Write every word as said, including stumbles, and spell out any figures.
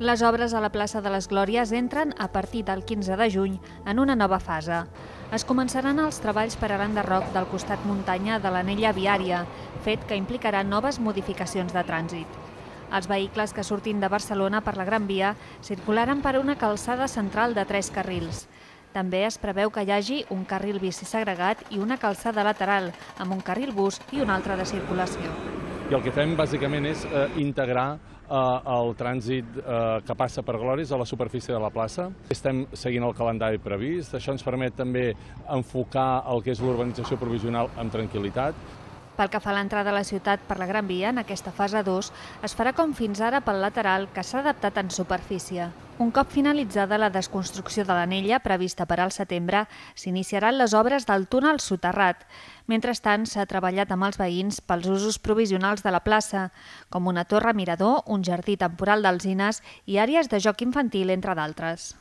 Les obres a la plaça de les Glòries entren a partir del quinze de juny en una nova fase. Es començaran els treballs per a l'enderroc del costat muntanya de l'anella viària, fet que implicarà noves modificacions de trànsit. Els vehicles que surtin de Barcelona per la Gran Via circularan per una calçada central de tres carrils. També es preveu que hi hagi un carril bici segregat i una calçada lateral, amb un carril bus i un altre de circulació. I el que fem bàsicament és eh, integrar eh, el trànsit eh, que passa per Glòries a la superfície de la plaça. Estem seguint el calendari previst, això ens permet també enfocar el que és l'urbanització provisional amb tranquil·litat. Pel que fa a l'entrada a la ciutat per la Gran Via, en aquesta fase dos, es farà com fins ara pel lateral, que s'ha adaptat en superfície. Un cop finalitzada la desconstrucció de l'anella, prevista per al setembre, s'iniciaran les obres del túnel soterrat. Mentrestant, s'ha treballat amb els veïns pels usos provisionals de la plaça, com una torre mirador, un jardí temporal d'alzines i àrees de joc infantil, entre d'altres.